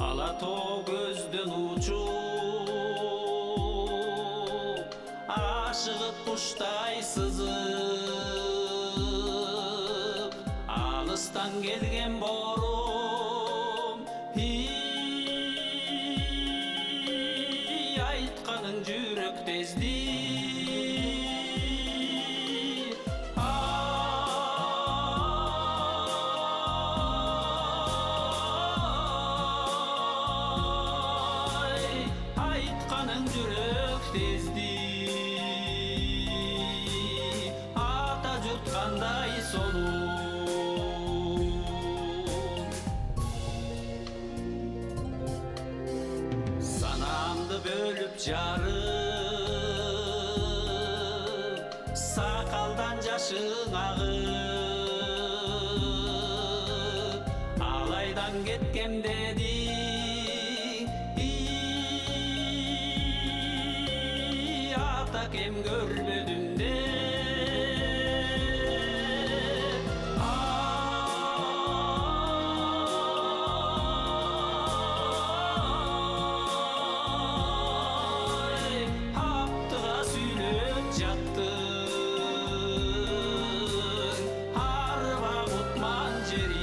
Ала тоо көздөн учуп, ашыгып куштай сызып, алыстан келген борум, айтканың жүрөк тезди. Айтканың жүрөк тезди, ата журт кандай сонун. Санамды бөлүп жарып, сакалдан жашың агып, алайдан кеткем деди. Кем көрбөдүм де. Аптыга сүйлөп жаттың, арба кутман жерим.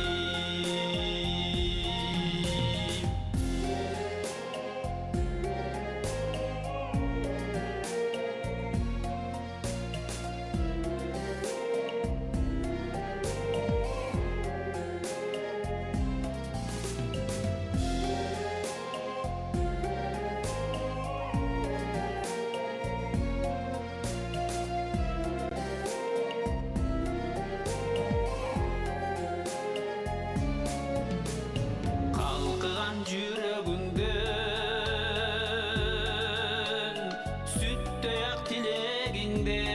Жүрөгүңдөн сүттөй ак тилегиңден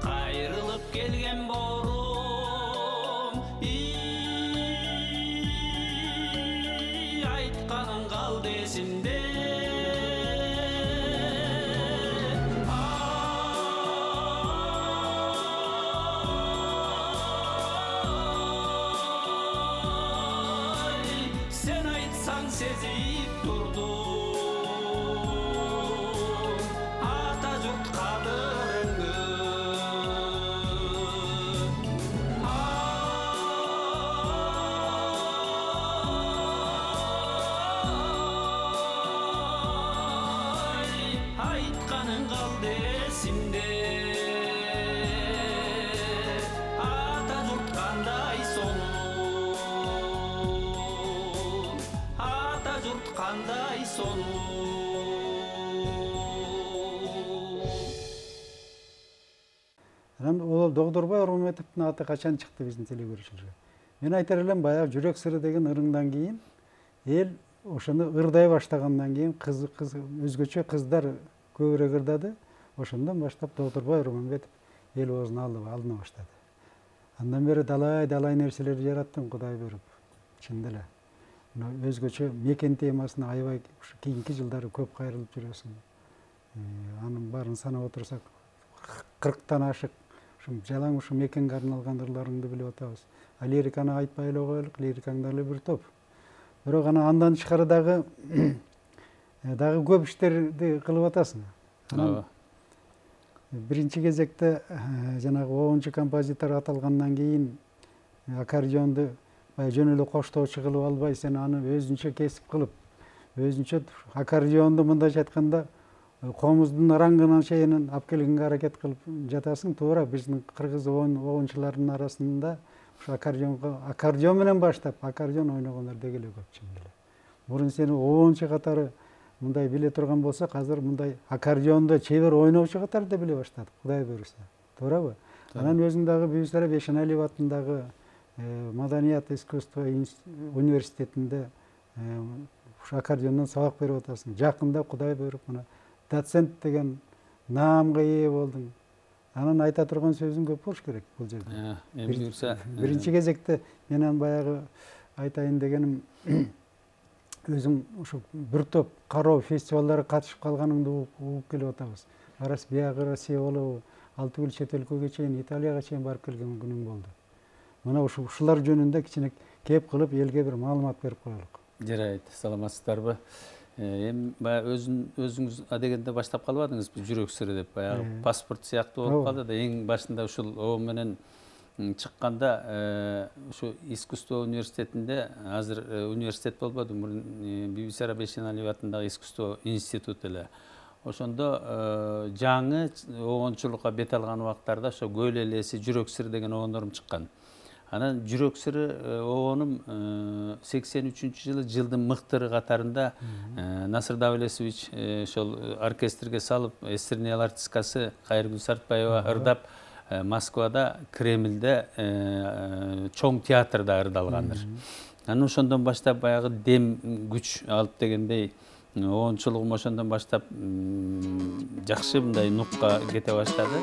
кайрылып келген борум, айтканың калды эсимде. Sen aytсаң сезип турдум, ата журт кадырыңды. Айтканың калды эсимде, ата журт кандай сонун. Кандай сонун. Анан ол Догдорбай Урматовдун аты качан чыкты биздин телекөрүүчүлөргө? Мен айтар элем, баягы жүрөк сыры деген ырыңдан кийин эл ошону ырдай баштагандан кийин өзгөчө кыздар көбүрөөк ырдады. Ошондон баштап Догдорбай Урматов эл оозун алына баштады. Андан бери далай нерселерди жараттым Кудай буйруп, чындап эле. Өзгөчө мекен темасына аябай кийинки жылдары көп кайрылып жүрөсүң. Анын баарын санап отурсак 40тан ашык жалаң ушу мекенге арналган ырларыңды билип атабыз. А лириканы айтпай эле коелук, лирикаң дагы бир топ. Бирок андан тышкары дагы көп иштерди кылып атасың. Биринчи кезекте жанагы 10-чу композитор аталгандан кийин аккордеонду жөн эле коштоочу кылып албай, сен аны өзүнчө кесип кылып, өзүнчө аккордеонду мындайча айтканда комуздун рангына чейин алып келгенге аракет кылып жатасың. Туура биздин кыргыз оончулардын арасында ушу аккордеон менен баштап, аккордеон ойногондор деги эле көп чын эле. Мурун сени оончу катары мындай биле турган болсок, азыр мындай аккордеондо чебер ойноочу катары да биле баштадык, Кудай буйруса. Туурабы? Анан өзүң дагы Бүйүсара Бейшеналиев атындагы Маданият искусство университетинде аккордеондон сабак берип атасың. Жакында Кудай буйруп мына доцент деген наамга ээ болдуң. Анан айта турган сөзүң көп болуш керек бул жерде. Биринчи кезекте менен баягы айтайын дегеним өзүм ушу бир топ кароо фестивалдарга катышып калганыңды угуп келип атабыз. Арас биягы Россия болобу, алты бул чет өлкөгө чейин, Италияга чейин барып келген күнүм болду. Мына ушулар жөнүндө кичине кеп кылып элге бир маалымат берип коелук. Жарайт, саламатсыздарбы? Эми баягы өзүңүз адегенде баштап калбадыңызбы, жүрөк сыры деп, баягы паспорт сыяктуу болуп калды да, эң башында ушул о менен чыкканда ушу искусство университетинде, азыр университет болбоду, мурун Бибисара Бейшеналиев атындагы искусство институту эле. Ошондо жаңы обончулукка бет алган убактарда ошо Көл элеси, жүрөк сыры деген обондорум чыккан. Анан жүрөк сыры обонум 83-жылы жылдын мыктыры катарында Насыр Давлесович ошол оркестрге салып, эстренный артисткасы Кайыргүл Сартбаева ырдап Москвада, Кремльде, чоң театрда ырдалгандыр. Анан ошондон баштап баягы дем күч алып дегендей, обончулугум ошондон баштап жакшы мындай нукка кете баштады.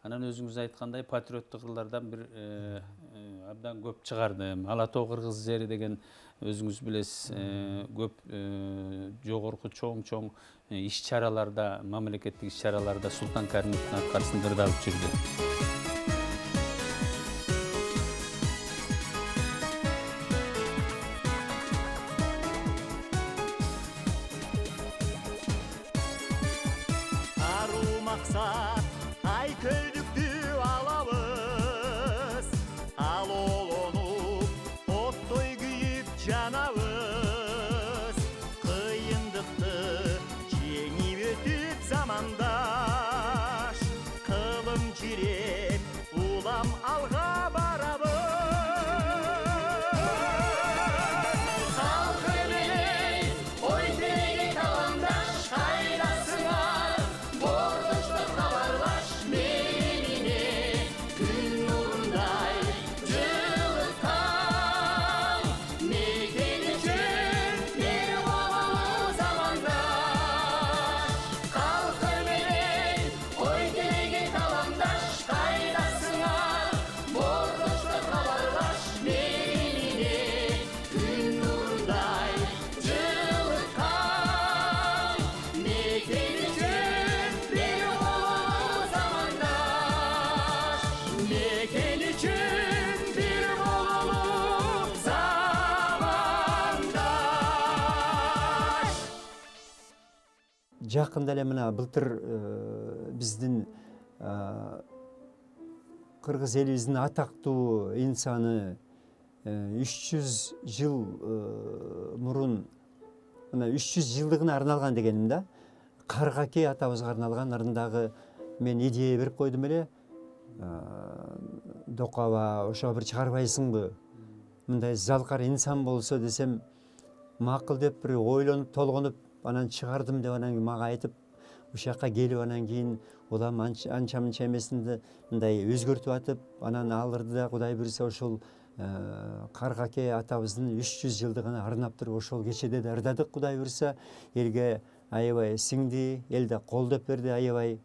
Анан өзүңүз айткандай патриоттук кырлардан бир абдан көп чыгардым. Ала Тоо кыргыз жери деген өзүңүз билесиз, көп жогорку чоң иш-чараларда, мамлекеттик иш-чараларда Султан Каримовдун аркасында ырдалып жүрдү. Ай көйдүктү алабыз, ал олонуп, оттой күйүп жанабыз. жакында эле мына былтыр биздин кыргыз элибиздин атактуу инсаны 300 жыл мурун мына 300 жылдыгына арналган дегеним да, Каргакей атабызга арналган ырындагы мен идея берип койдум эле. Докаба ошого бир чыгарбайсыңбы? Мындай залкар инсан болсо десем, макул деп бир ойлонуп толгонуп анан чыгардым деп анан мага айтып, ушул жакка келип анан кийин улам анча мынча эмесинде мындай өзгөртүп атып, анан ал ырды да Кудай буйрса ошол Каргакей атабыздын 300 жылдыгына арнап туруп ошол кечеде да ырдадык. Кудай буйрса элге аябай сиңди, эл да колдоп берди аябай.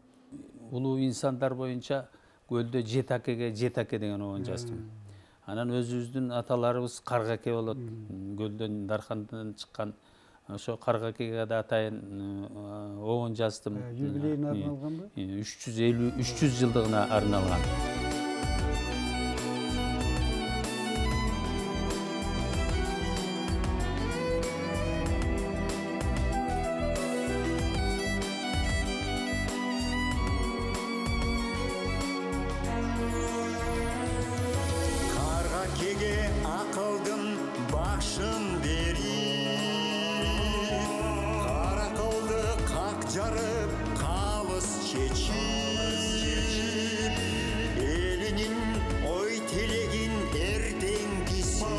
Улуу инсандар боюнча көлдө Жетакеге Жетаке деген обон жаздым. Анан өзүбүздүн аталарыбыз Каргакей болот. Көлдөн Дархандан чыккан ошо Каргакейге да атайын обон жаздым. Юбилейине арналганбы? 300 жылдыгына арналган. Каргакеге акылдын башын берип, каракылды как жарып, калыс чечип, элинин ой тилегин эртеңгиси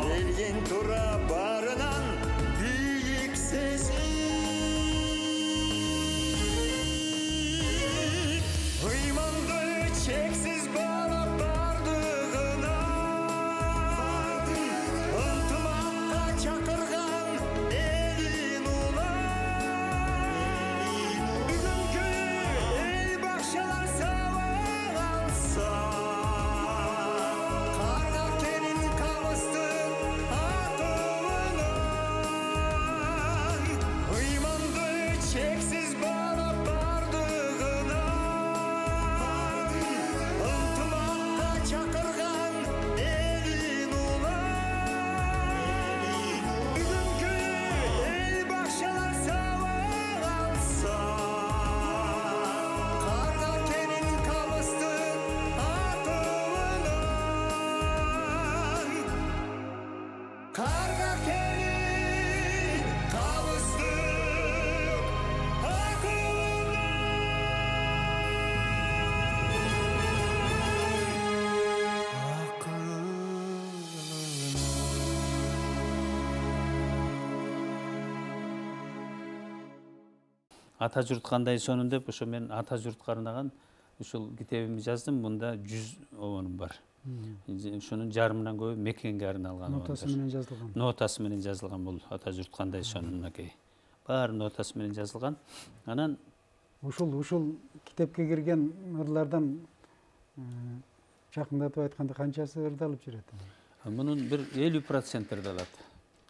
келген тура барынан бийик сезип, ыйманды чексиз баалап бардыгынан ынтымакка чакырган элин улан, бүгүнкү эл бакчалар сабак алса, Каргакенин камыстын атыбынан, ыйманды чексиз баалап бардыгынан ынтымакка чакырган элин улан, бүгүнкү эл бакчалар сабак алса, Каргакенин камыстын атыбынан, Каргакенин камыстын Ата журт кандай сонун деп ошо мен ата журтка арнаган ушул китебимди жаздым. Мында 100 обонум бар. Ошонун жарымынан көбү мекенге арналган. Нотасы менен жазылган. Нотасы менен жазылган бул ата журт кандай сонун мынакей. Баары нотасы менен жазылган. Анан Ушул китепке кирген ырлардан жакындатып айтканда канчасы ырдалып жүрөт? мунун бир 50% ырдалат.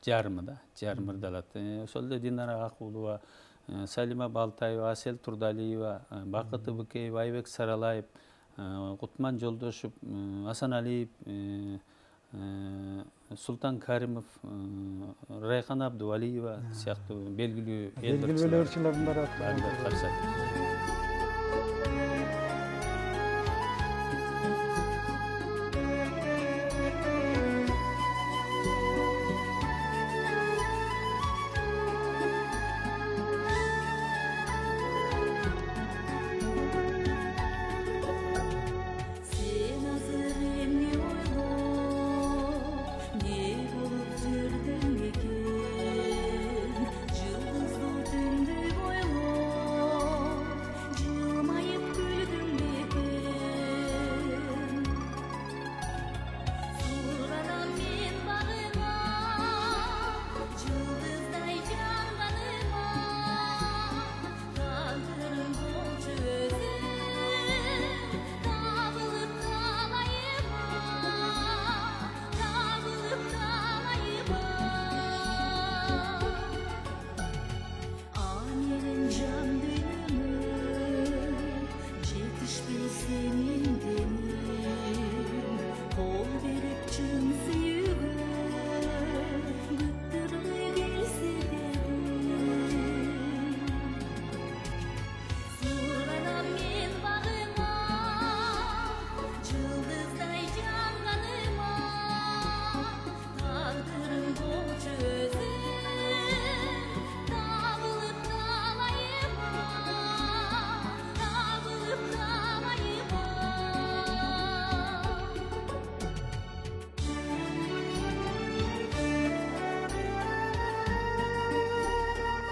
Жарымы да, жарым ырдалат. Ошол эле Динара Акулова, Салима Балтаева, Асел Турдалиева, Бакыт Быкеева, Айбек Саралаев, Кутман Жолдошев, Асаналиев, Султан Каримов, Райхан Абдувалиева сыяктуу белгилүү Белгилүү ырчылардын баары каршат. Sen azır emni oylo, ne bulup жүрдүң экен, жылдызды түндү бойлоп,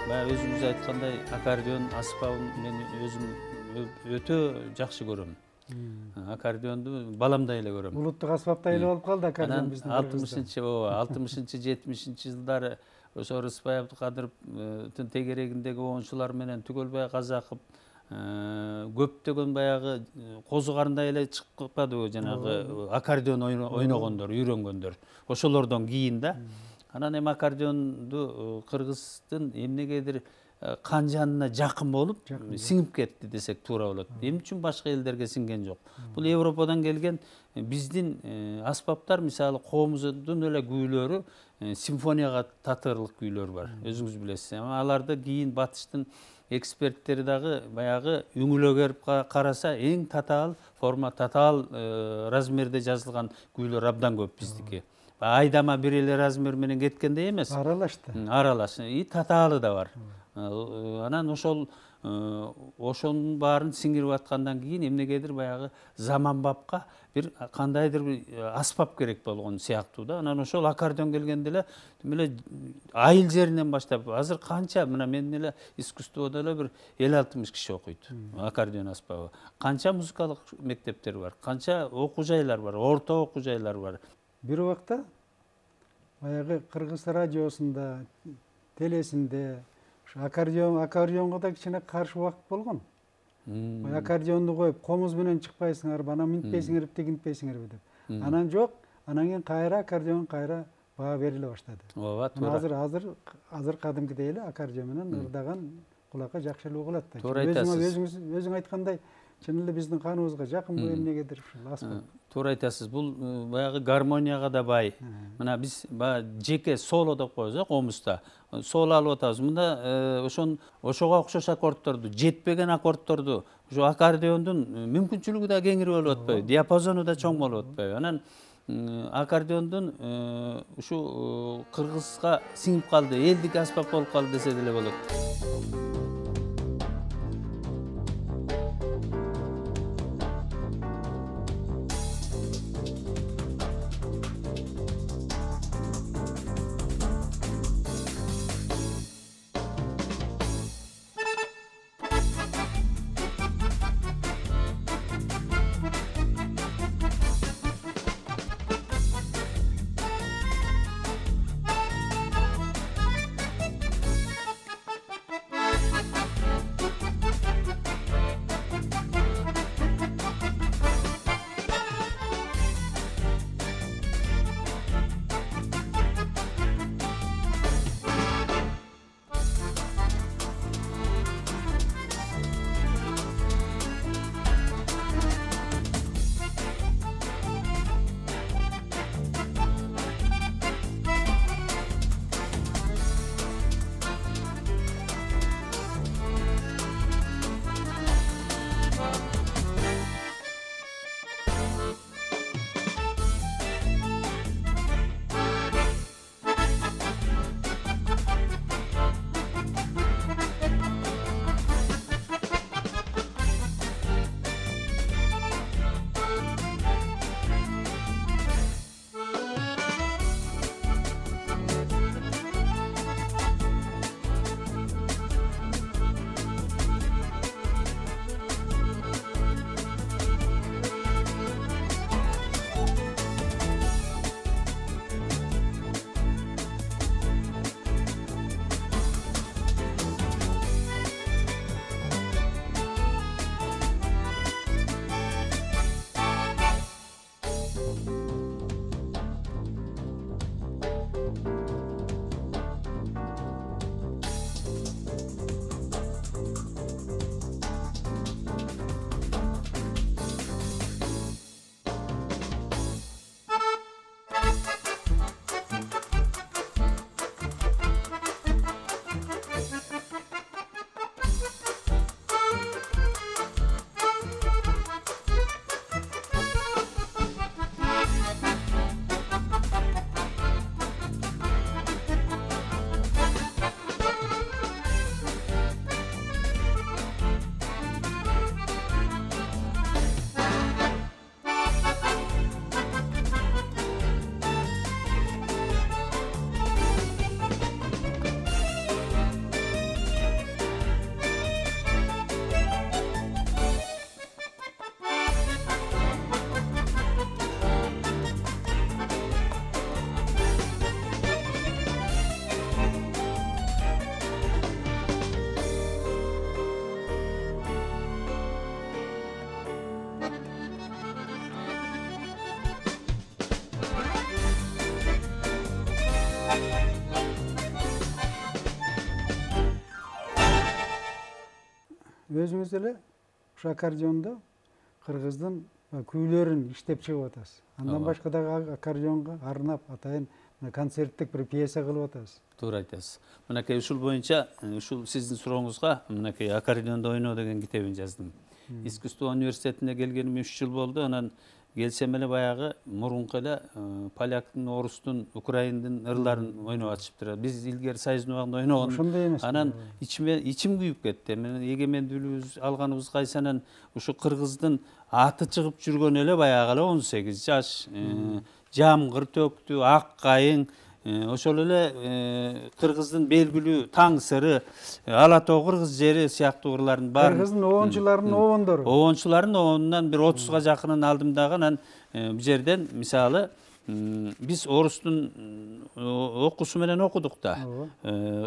баягы өзүңүз айткандай аккордеон аспабын мен өзүм өтө жакшы көрөм. Аккордеонду баламдай эле көрөм. Улуттук аспаптай эле болуп калды аккордеон Анан биздин 60-70 жылдары ошо Рыспай Абдыкадыровдун тегерегиндеги оончулар менен Түгөлбай Казаков көптөгөн баягы козу карындай эле чыгып калбадыбы жанагы аккордеон ойногондор, үйрөнгөндөр. Ошолордон кийин да. Анан эми аккордеонду кыргыздын эмнегедир кан жанына жакын болуп сиңип кетти десек туура болот. Эмне үчүн башка элдерге сиңген жок? Бул Европадан келген биздин аспаптар, мисалы коомуздун эле күүлөрү симфонияга татырлык күүлөр бар. Өзүңүз билесиз. Аларды кийин батыштын эксперттери дагы баягы үңүлөгөрүп караса эң татаал форма, татаал размерде жазылган күүлөр абдан көп биздики. Айдама бир эле размер менен кеткендей эмес. Аралашты. Аралаш. Татаалы да бар. Анан ошонун баарын сиңирип аткандан кийин эмнегедир баягы заманбапка бир кандайдыр бир аспап керек болгон сыяктуу да. Анан ошол аккордеон келгенде эле эле айыл жеринен баштап азыр канча мына менин эле искусстводо эле бир 50-60 киши окуйт аккордеон аспабы. Канча музыкалык мектептер бар, канча окуу жайлар бар, орто окуу жайлар бар. Бир убакта баягы Кыргыз радиосунда, телесинде аккордеонго да кичине каршы убакыт болгон. Аккордеонду коюп, комуз менен чыкпайсыңарбы, анан минтпейсиңерби, тигинтпейсиңерби деп. Анан жок, анан кийин кайра аккордеон кайра баа бериле баштады. Ооба, туура. Азыр кадимкидей эле аккордеон менен ырдаган кулакка жакшы эле угулат да. Туура айтасыз. Өзүң айткандай, чын эле биздин каныбызга жакын бул эмнегедир ушул аспап. Туура айтасыз. Бул баягы гармонияга да бай. Мына биз жеке соло деп коебуз, комузда. Соло алып атабыз. Мында ошого окшош аккордторду, жетпеген аккордторду ошо аккордеондун мүмкүнчүлүгү да кеңири болуп атпайбы, диапазону да чоң болуп атпайбы. Анан аккордеондун ушу кыргызга сиңип калды, элдик аспап болуп калды десе деле болот. өзүңүз эле ушу аккордеондо кыргыздын күүлөрүн иштеп чыгып атасыз. Андан башка дагы аккордеонго арнап атайын концерттик бир пьеса кылып атасыз. Туура айтасыз. Мынакей ушул боюнча ушул сиздин сурооңузга мынакей аккордеондо ойноо деген китебин жаздым. Искусство университетине келгениме 3 жыл болду. Анан келсем эле баягы мурунку эле поляктын, орустун, украиндин ырларын ойноп атышыптыр. Биз илгери союздун убагында ойногон. Ошондой эмес. Анан ичим күйүп кетти. Мен эгемендүүлүгүбүз алганыбыз кайсанан ушу кыргыздын аты чыгып жүргөн эле баягы эле 18 жаш, жамгыр төктү, ак кайың, ошол эле кыргыздын белгилүү таң сыры, ала тоо кыргыз жери сыяктуу ырлардын баарын Кыргыздын обончуларынын обондору. Обончулардын обонунан бир 30га жакынын алдым дагы. Анан бул жерден мисалы биз орустун окуусу менен окудук да,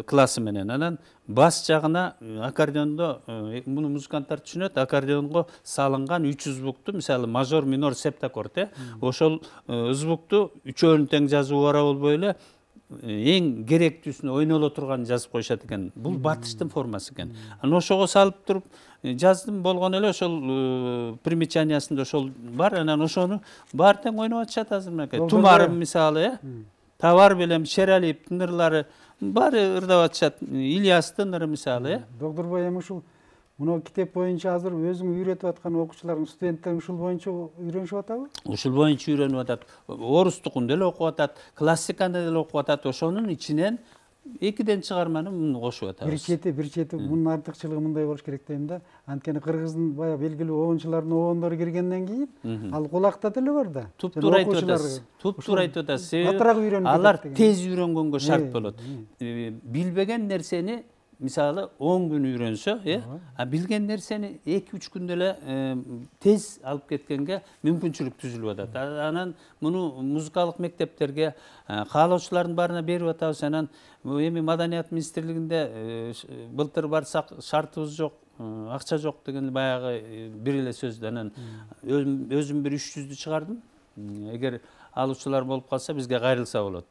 классы менен. Анан бас жагына аккордеондо муну музыканттар түшүнөт, аккордеонго салынган 3 звукту, мисалы мажор, минор, септаккорд, ошол звукту үчөөнүн тең жазуу бара болбой эле эң керектүүсүн ойноло турганын жазып коюшат экен. Бул батыштын формасы экен. Анан ошого салып туруп жаздым, болгон эле ошол примечаниясында ошол бар. Анан ошону баары тең ойноп атышат азыр мынакей. Тумарым мисалы, Табар белем Шералиевдин ырлары баары ырдап атышат. Ильястын ыры мисалы. Докторбай эми ушул мына китеп боюнча азыр өзүң үйрөтүп аткан окуучуларың, студенттериң ушул боюнча үйрөнүшүп атабы? Ушул боюнча үйрөнүп атат. Орустукун деле окуп атат, классиканы деле окуп атат. Ошонун ичинен 2ден чыгарманы муну кошуп атабыз. Бир чети мунун артыкчылыгы мындай болуш керек дейм да. Анткени кыргыздын бая белгилүү обончулардын обондору киргенден кийин ал кулакта деле бар да. Туптуура айтып атасыз. Туптуура айтып атасыз. Катыраак үйрөнүп алар тез үйрөнгөнгө шарт болот. Билбеген нерсени мисалы 10 күн үйрөнсө, а билген нерсени 2-3 күндө эле тез алып кеткенге мүмкүнчүлүк түзүлүп атат. Анан муну музыкалык мектептерге каалоочулардын баарына берип атабыз. Анан эми Маданият министрлигинде былтыр барсак шартыбыз жок, акча жок деген баягы бир эле сөздү. Анан өзүм бир 300дү чыгардым. Эгер алуучулар болуп калса бизге кайрылса болот.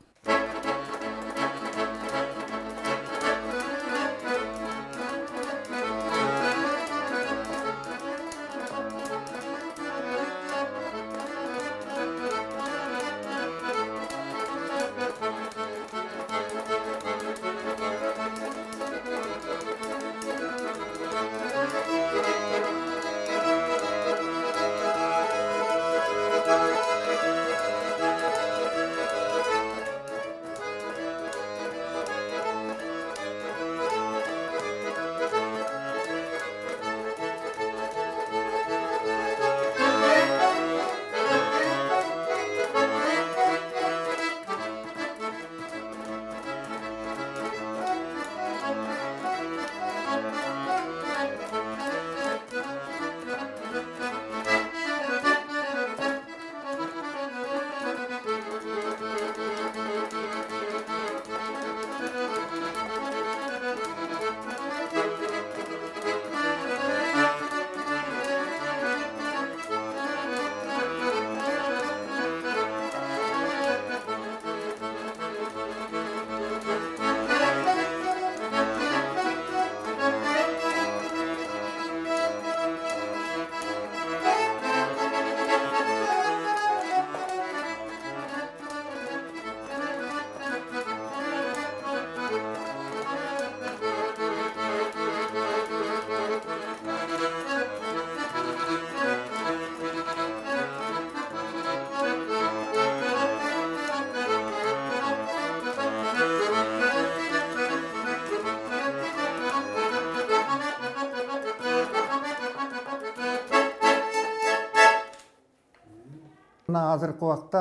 Азыркы убакта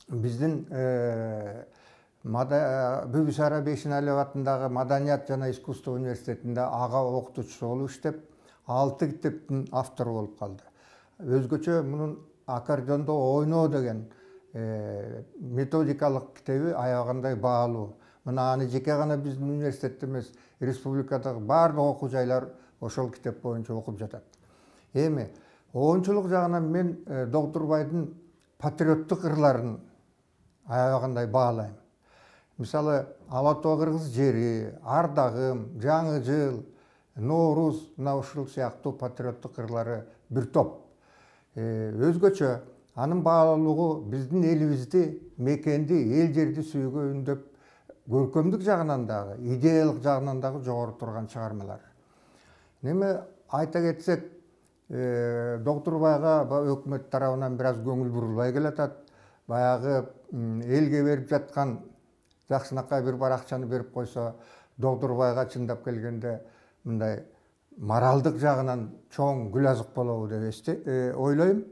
биздин Бүбүс Ара Бейшеналиев атындагы Маданият жана искусство университетинде ага окутуучу болуп иштеп, 6 китептин автору болуп калды. Өзгөчө мунун аккордеондо ойноо деген методикалык китеби аябагандай баалуу. Мына аны жеке гана биздин университетте эмес, республикадагы баардык окуу жайлар ошол китеп боюнча окуп жатат. Эми оончулук жагынан мен Докторбайдын патриоттук ырларын аябагандай баалайм. Мисалы, Ала тоо кыргыз жери, Ардагым, Жаңы жыл, Норуз, мына ушул сыяктуу патриоттук кырлары бир топ. Өзгөчө анын баалуулугу биздин элибизди, мекенди, эл жерди сүйүүгө үндөп, көркөмдүк жагынан дагы, идеялык жагынан дагы жогору турган чыгармалар. Неме айта кетсек, Доктурбайга өкмөт тарабынан бир аз көңүл бурулбай келатат. Баягы элге берип жаткан жакшынакай бир бар акчаны берип койсо, Доктурбайга чындап келгенде мындай моралдык жагынан чоң гүл азык болобу деп ойлойм.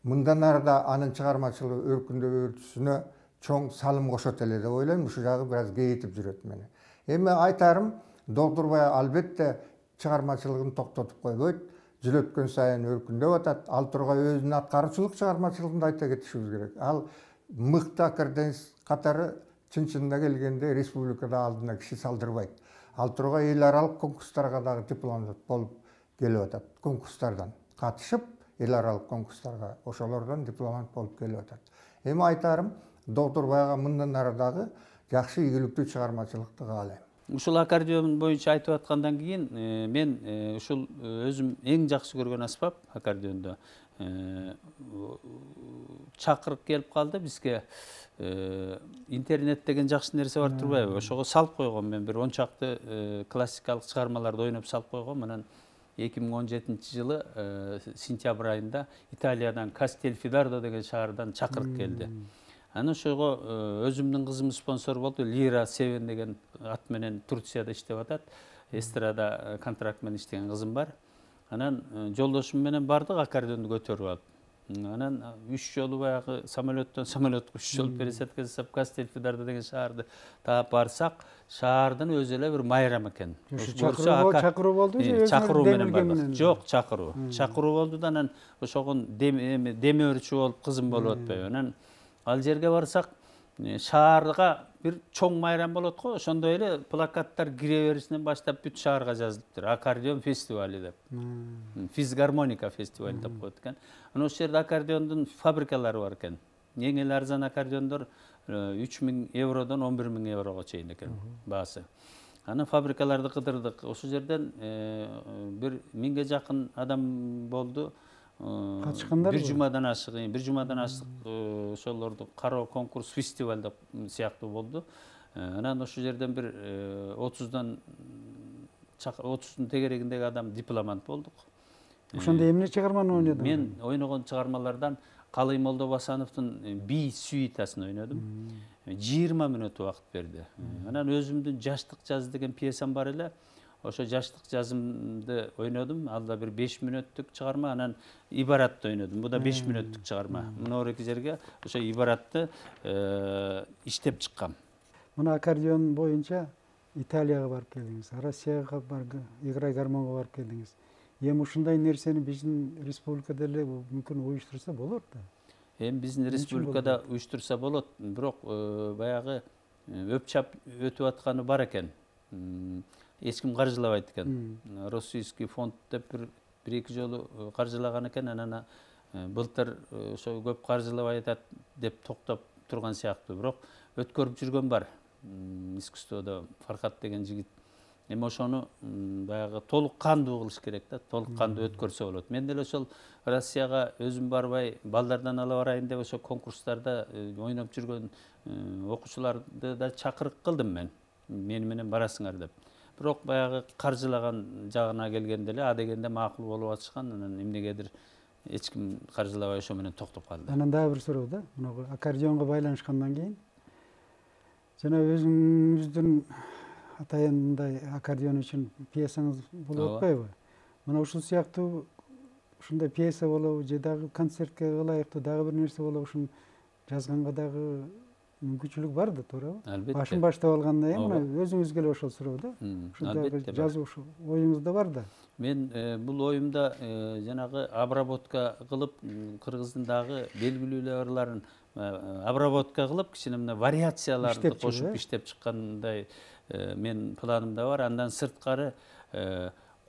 Мындан ары да анын чыгармачылык өркүндөп өртүшүнө чоң салым кошот эле деп ойлойм. Ушул жагы бир аз кейитип жүрөт мени. Эми айтарым, Доктурбай албетте чыгармачылыгын токтотуп койбойт. Жыл өткөн сайын өркүндөп атат. Ал тургай өзүнүн аткаруучулук чыгармачылыгын да айта кетишибиз керек. Ал мыкты академист катары чын-чынына келгенде республикада алдына киши салдырбайт. Ал тургай эл аралык конкурстарга дагы дипломат болуп келип атат. Конкурстардан катышып, эл аралык конкурстарга ошолордон дипломат болуп келип атат. Эми айтарым, Доктурбайга мындан ары дагы жакшы ийгиликтүү чыгармачылыкты каалайм. Ушул аккордеон боюнча айтып аткандан кийин мен ушул өзүм эң жакшы көргөн аспап аккордеондо чакырык келип калды бизге. Интернет деген жакшы нерсе бар турбайбы? Ошого салып койгом мен бир 10 чакты классикалык чыгармаларды ойноп салып койгом. Анан 2017-жылы сентябрь айында Италиядан Кастельфидардо деген шаардан чакырык келди. Анан ошого өзүмдүн кызым спонсор болду. Лира Севен деген ат менен Турцияда иштеп атат. Эстрада контракт менен иштеген кызым бар. Анан жолдошум менен бардык аккордеонду көтөрүп алып. Анан 3 жолу баягы самолеттон самолетке 3 жолу пересадка жасап Кастельфидардо деген шаарды таап барсак, шаардын өзү эле бир майрам экен. Чакыруу болду же? Чакыруу менен бардык. Жок, чакыруу. Чакыруу болду да анан ошогон демөөрчү болуп кызым болуп атпайбы. Анан ал жерге барсак, шаарга бир чоң майрам болот го, ошондой эле плакаттар кире беришинен баштап бүт шаарга жазылыптыр. Аккордеон фестивали деп. Физгармоника фестивали деп коет экен. Анан ошол жерде аккордеондун фабрикалары бар экен. Эң эле арзан аккордеондор 3000 евродон 11000 еврого чейин экен баасы. Анан фабрикаларды кыдырдык. Ошол жерден бир 1000ге жакын адам болду. Катышкандар бир жумадан ашык ошолорду кароо конкурс фестиваль деп сыяктуу болду. Анан ошол жерден бир 30 30'дун тегерегиндеги адам дипломант болдук. Ошондо эмне чыгарманы ойнодуң? Мен ойногон чыгармалардан Калый Молдобасановдун Би сюитасын ойнодум. 20 мүнөт убакыт берди. Анан өзүмдүн Жаштык жаз деген пьесам бар эле. Ошо жаштык жазымды ойнодум. Ал да бир 5 мүнөттүк чыгарма. Анан Ибаратты ойнодум. Бу да 5 мүнөттүк чыгарма. Мына эки жерге ошо Ибаратты иштеп чыккам. Мына аккордеон боюнча Италияга барып келдиңиз, Россияга играй гармонго барып келдиңиз. Эми ушундай нерсени биздин республикада эле мүмкүн уюштурса болот да. Эми биздин республикада уюштурса болот, бирок баягы өпчап өтүп атканы бар экен. Эч ким каржылабайт экен. Российский фонд деп бир-эки жолу каржылаган экен, анан былтыр ошо көп каржылабай атат деп токтоп турган сыяктуу. Бирок өткөрүп жүргөн бар. Искусстводо Фархат деген жигит. Эми ошону баягы толук кандуу кылыш керек да, толук кандуу өткөрсө болот. Мен деле ошол Россияга өзүм барбай, балдардан ала барайын деп ошо конкурстарда ойноп жүргөн окуучуларды да чакырык кылдым мен. Мени менен барасыңар деп. Бирок баягы каржылаган жагына келгенде эле а дегенде макул болуп атышкан, анан эмнегедир эч ким каржылабай ошо менен токтоп калды. Анан дагы бир суроо да, мына аккордеонго байланышкандан кийин жана өзүңүздүн атайын мындай аккордеон үчүн пьесаңыз болуп атпайбы? Мына ушул сыяктуу ушундай пьеса болобу же дагы концертке ылайыктуу дагы бир нерсе болобу, ушуну жазганга дагы мүмкүнчүлүк бар да, туурабы? Албетте. Башын баштап алганда мына өзүңүзгө эле ошол суроо да. Албетте. Жазуу ушул оюңузда бар да. Мен бул оюмда жанагы обработка кылып, кыргыздын дагы белгилүү ырларын обработка кылып, кичине мына вариацияларды кошуп иштеп чыккандай мен планымда бар. Андан сырткары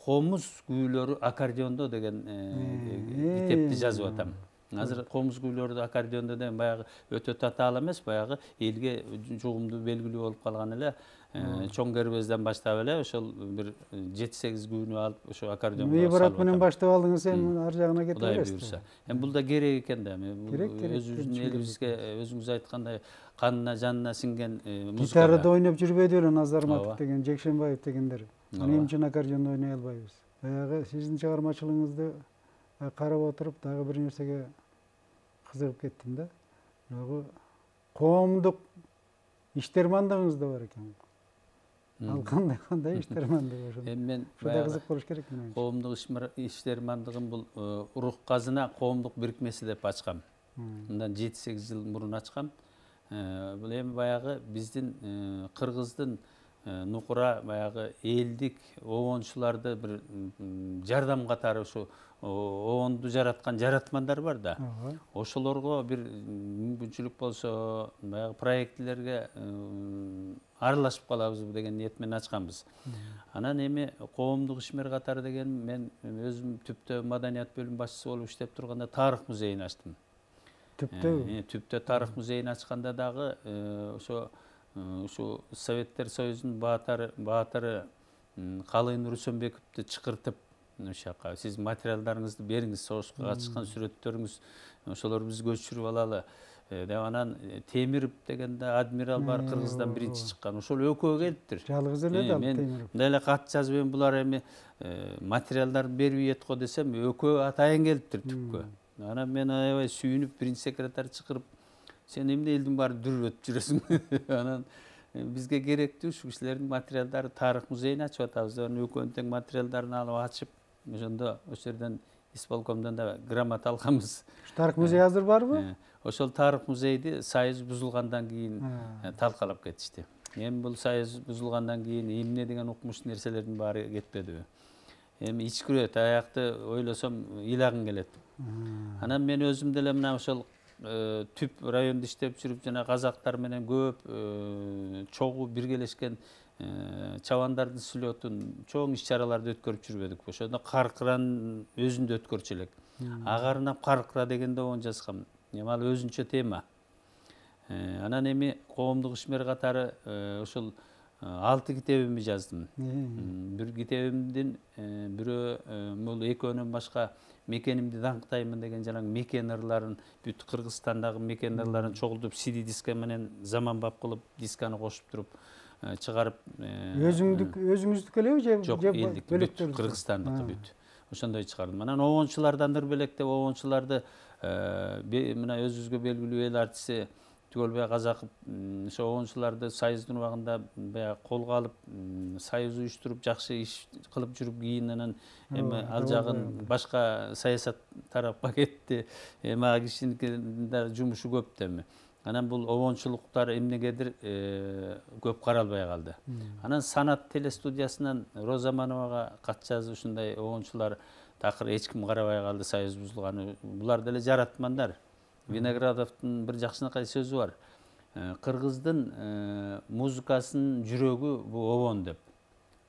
комуз күүлөрү аккордеондо деген китепти жазып атам. Азыр комуз күүлөрдү аккордеондо да баягы өтө татаал эмес, баягы элге жугумдуу белгилүү болуп калган эле чоң кербезден баштап эле ошол бир 7-8 күнү алып ошо аккордеонго Ибрат менен баштап алдыңыз, эми ар жагына кете Кудай бересиз. буйрса. Эми бул да керек экен да. Керек, Өзүбүздүн элибизге өзүңүз айткандай канына жанына сиңген музыка. Гитарада ойноп жүрбөйдү беле Назар Ооба. Матов деген, Жекшенбаев дегендер. Эмне үчүн аккордеондо ойной албайбыз? Баягы сиздин чыгармачылыгыңызды карап отуруп дагы бир нерсеге кызыгып кеттим да. Жогу коомдук иштермандыгыңыз да бар экен. Ал кандай иштермандык ошо? Эми мен Ушундай кызык болуш керек менин. коомдук иштермандыгын бул Рух казына коомдук бирикмеси деп ачкам. Мындан 7-8 жыл мурун ачкам. Бул эми баягы биздин кыргыздын нукура баягы элдик обончуларды бир жардам катары ушу обонду жараткан жаратмандар бар да. Ошолорго бир мүмкүнчүлүк болсо баягы проектлерге аралашып калабыз деген ниет менен ачканбыз. Анан эми коомдук ишмер катары деген мен өзүм түптө маданият бөлүм башчысы болуп иштеп турганда тарых музейин ачтым. Түптө тарых музейин ачканда дагы ушу Советтер Союзунун баатыры Калыйын Русөнбековду чакыртып ошол жака сиз материалдарыңызды бериңиз, согушка катышкан сүрөттөрүңүз ошолорду биз көчүрүп алалы деп анан Темиров деген да адмирал бар, Кыргыздан биринчи чыккан. Ошол экөө келиптир. Жалгыз эле да Мен Темиров. мындай эле кат жазып эми булар эми материалдарды бербейт го десем, экөө атайын келиптир түпкө. Анан мен аябай сүйүнүп биринчи секретарь чакырып, сен эмне элдин баарын дүрбөтүп жүрөсүң? Анан бизге керектүү ушу кишилердин материалдары тарых музейин ачып атабыз. Экөөнүн тең материалдарын алып ачып, ошондо ошол жерден исполкомдон да грамота алганбыз. Тарых музей азыр барбы? Ошол тарых музейди союз бузулгандан кийин талкалап кетишти. Эми бул союз бузулгандан кийин эмне деген укмуш нерселердин баары кетпедиби? Эми ичкирет, аякты ойлосом ыйлагың келет. Анан мен өзүм деле мына ошол түп райондо иштеп жүрүп жана казактар менен көп чогуу биргелешкен чабандардын сүлөтүн чоң иш-чараларды өткөрүп жүрбөдүк. Ошондо Каркыран өзүндө өткөрчү элек. Агарынап Каркыра дегенде он жазгам. Эми ал өзүнчө тема. Анан эми коомдук ишмер катары ошол 6 китебимди жаздым. Бир китебимдин бирөө бул экөөнөн башка мекенимди даңктаймын деген жанагы мекен ырларын, бүт Кыргызстандагы мекен ырларын чогултуп CD диска менен заманбап кылып дисканы кошуп туруп чыгарып. Өзүңүздүкү элеби же жок, элдик бүт Кыргызстандыкы бүт. Ошондой чыгардым. Анан обончулардан белектеп обончуларды мына өзүбүзгө белгилүү эл артисти Түгөлбай Казаков ошо обончуларды союздун убагында баягы колго алып, союз уюштуруп, жакшы иш кылып жүрүп кийин анан эми ал жагын башка саясат тарапка кетти. Эми ал кишинин да жумушу көп эми. Анан бул обончулуктар эмнегедир көп каралбай калды. Анан Санат телестудиясынан Роза Мановага кат жазып ушундай обончулар такыр эч ким карабай калды, союз бузулганы. Булар деле жаратмандар. Виноградовдун бир жакшынакай сөзү бар. Кыргыздын музыкасынын жүрөгү бул обон деп.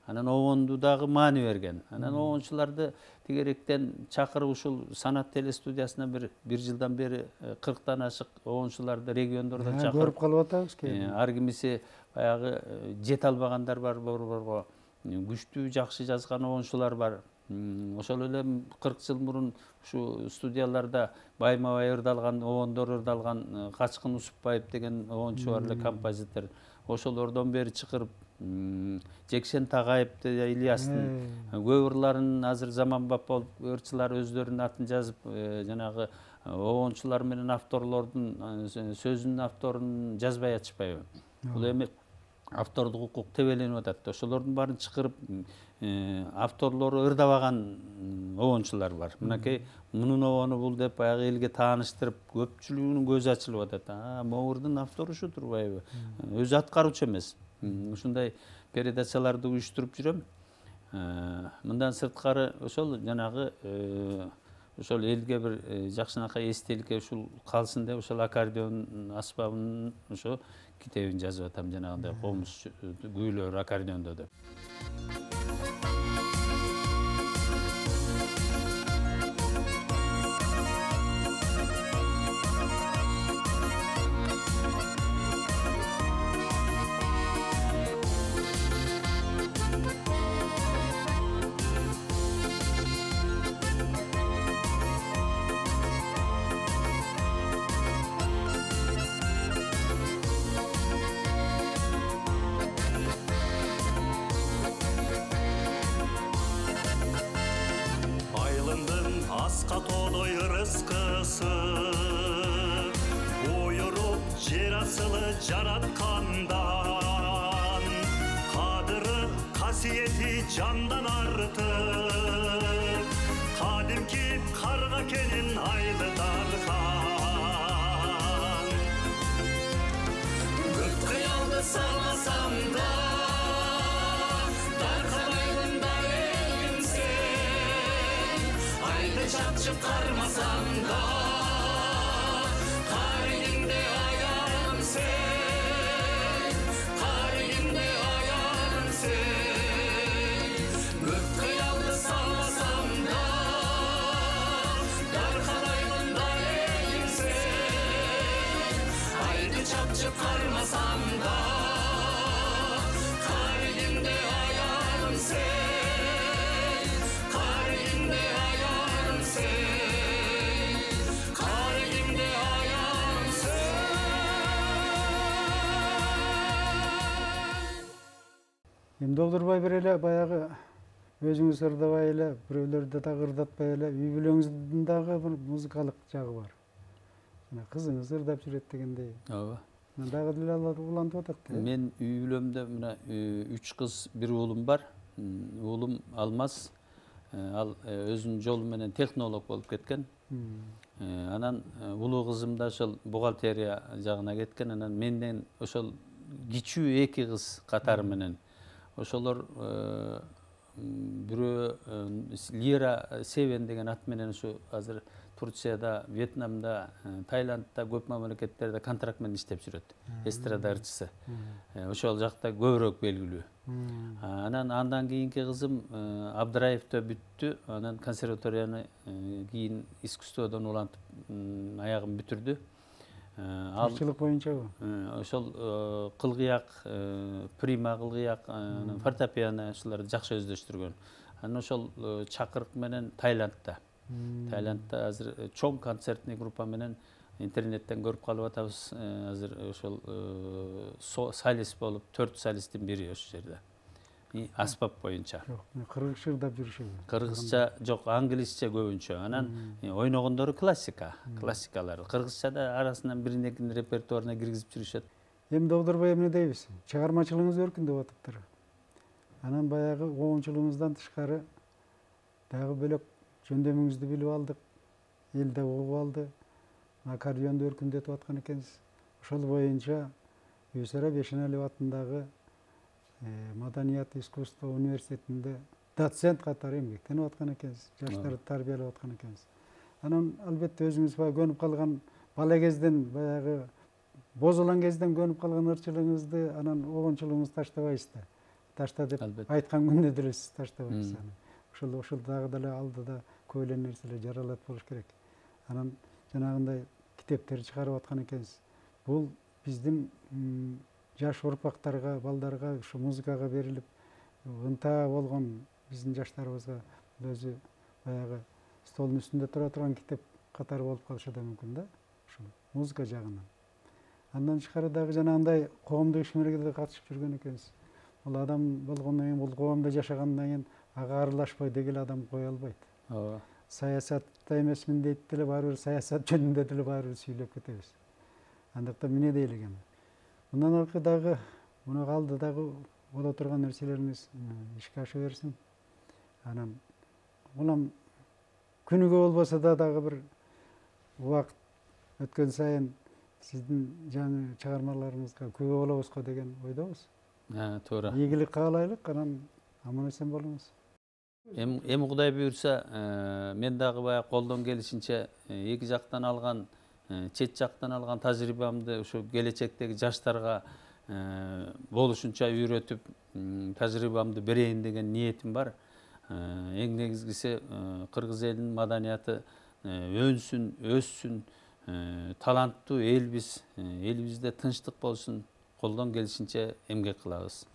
Анан обонду дагы маани берген. Анан обончуларды тегеректен чакырып ушул Санат телестудиясына бир жылдан бери 40тан ашык обончуларды региондордон чакырып көрүп калып атабыз кээ. Ар кимиси баягы жете албагандар бар, борборго күчтүү жакшы жазган обончулар бар. Ошол эле 40 жыл мурун ушу студияларда байма-бай ырдалган, обондор ырдалган Качкын Усупбаев деген обончу бар эле, композитор. Ошолордон бери чакырып Жекшен Тагаев Ильястын көп ырларын азыр заманбап болуп, ырчылар өздөрүнүн атын жазып, жанагы обончулар менен авторлордун сөзүнүн авторун жазбай ачпайбы. Бул эми автордук укук тебеленип атат. Ошолордун баарын чакырып авторлору ырдабаган обончулар бар. Мынакей мунун обону бул деп баягы элге тааныштырып, көпчүлүгүнүн көзү ачылып атат. Могурдун автору ушу турбайбы? Өзү аткаруучу эмес. Ушундай передачаларды уюштуруп жүрөм. Мындан сырткары ошол жанагы ошол элге бир жакшынакай эстеликке ушул калсын деп ошол аккордеон аспабынын ошо китебин жазып атам, жанагындай комуз күүлөр аккордеондо деп. аркылы жараткандан кадыры касиети жандан артык кадимки карга кенин айлы дархан Көк кыялды салмасам да даркабайдын да элим сен айды чапчып кармасам да каригимде аярым сен каригимде аярым сен көк кыялды салмасам да даркабайдын да элим сен айды чапчып кармасам да каригимде аярым сен каригимде аярым сен каригимде аярым сен Эмди олдурбай бир эле баягы өзүңүз ырдабай эле, бирөөлөрдү дагы ырдатпай эле үй бүлөңүздүн дагы бир музыкалык жагы бар. Жана кызыңыз ырдап жүрөт дегендей. ооба Дагы деле улантып атат да. мен үй бүлөмдө мына 3 кыз 1 уулум бар. Уулум Алмаз ал өзүнүн жолу менен технолог болуп кеткен. Анан улуу кызым да ошол бухгалтерия жагына кеткен. Анан менден ошол кичүү 2 кыз катары менен ошолор бирөө Лира Севен деген ат менен ушу азыр Турцияда, Вьетнамда, Таиландда көп мамлекеттерде контракт менен иштеп жүрөт. Эстрада ырчысы. Ошол жакта көбүрөөк белгилүү. Анан андан кийинки кызым Абдыраевде бүттү. Анан консерваторияны кийин искусстводон улантып аягын бүтүрдү. Ал Ырчылык боюнчабы? ошол кылгыяк, прима кылгыяк, фортепиано ушуларды жакшы өздөштүргөн. Анан ошол чакырык менен Таиландда азыр чоң концертный группа менен интернеттен көрүп калып атабыз. Азыр ошол солист болуп 4 солисттин бири ошол жерде. Аспап боюнча. Жок, кыргызча ырдап жүрүшөбү. Кыргызча жок, англисче көбүнчө. Анан ойногондору классикалар. Кыргызча да арасынан бирин-экинин репертуарына киргизип жүрүшөт. Эмди олдурбай эмне дейбиз? Чыгармачылыгыңыз өркүндөп атыптыр. Анан баягы оңчулугуңуздан тышкары дагы бөлөк жөндөмүңүздү билип алдык. Эл да угуп алды. Аккордеонду өркүндөтүп аткан экенсиз. Ошол боюнча Бибисара Бешеналиев атындагы Маданият искусство университетинде доцент катары эмгектенип аткан экенсиз. Жаштарды тарбиялап аткан экенсиз. Анан албетте өзүңүз баягы көнүп калган бала кезден баягы бозулан кезден көнүп калган ырчылыгыңызды анан огончулугуңузду таштабайсыз да. Ташта деп айткан күндө деле сиз таштабайсыз аны. Ошол дагы деле алдыда көп эле нерселер жаралат болуш керек. Анан жанагындай китептер чыгарып аткан экенсиз. Бул биздин жаш урпактарга, балдарга ушу музыкага берилип ынта болгон биздин жаштарыбызга өзү баягы столдун үстүндө тура турган китеп катары болуп калышы да мүмкүн да. Ушул музыка жагынан. Андан тышкары дагы жанагындай коомдук ишмерге катышып жүргөн экенсиз. Бул адам болгондон кийин, бул коомдо жашагандан кийин ага аралашпай дегеле адам кое албайт. Ооба. Саясатта эмесмин дейт деле баары бир саясат жөнүндө деле баары бир сүйлөп кетебиз. Андыктан эмне дейли экен? Мындан аркы дагы муну калды дагы боло турган нерселериңиз ишке аша берсин. Анан улам күнүгө болбосо да дагы бир убакыт өткөн сайын сиздин жаңы чыгармаларыңызга күбө болобузго деген ойдобуз. Туура. Ийгилик каалайлык, анан аман эсен болуңуз. Эми Кудай буйрса, мен дагы баягы колдон келишинче эки жактан алган, чет жактан алган тажрыйбамды ушу келечектеги жаштарга болушунча үйрөтүп, тажрыйбамды берейин деген ниетим бар. Эң негизгиси кыргыз элинин маданияты өнсүн, өссүн, таланттуу элбиз, элибизде тынчтык болсун, колдон келишинче эмгек кылабыз.